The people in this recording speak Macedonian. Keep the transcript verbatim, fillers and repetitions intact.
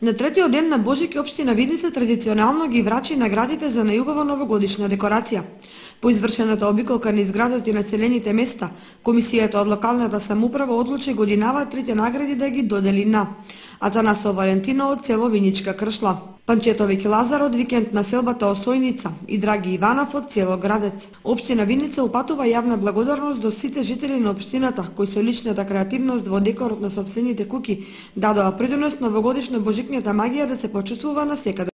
На третиот ден на Божик општина Видница традиционално ги врачи наградите за најубава новогодишна декорација. По извршената обиколка низ градот и населените места, комисијата од локалната самоуправа одлучи годинава трите награди да ги додели на Атанасо Валентино од село Виничка Кршла, Панчетовик Лазар од викенд населбата Осојница и Драги Иванов од село Градец. Општина Винница упатува јавна благодарност до сите жители на општината кои со личната креативност во декорот на сопствените куќи дадоа придонес новогодишно божикната магија да се почувствува на секаде.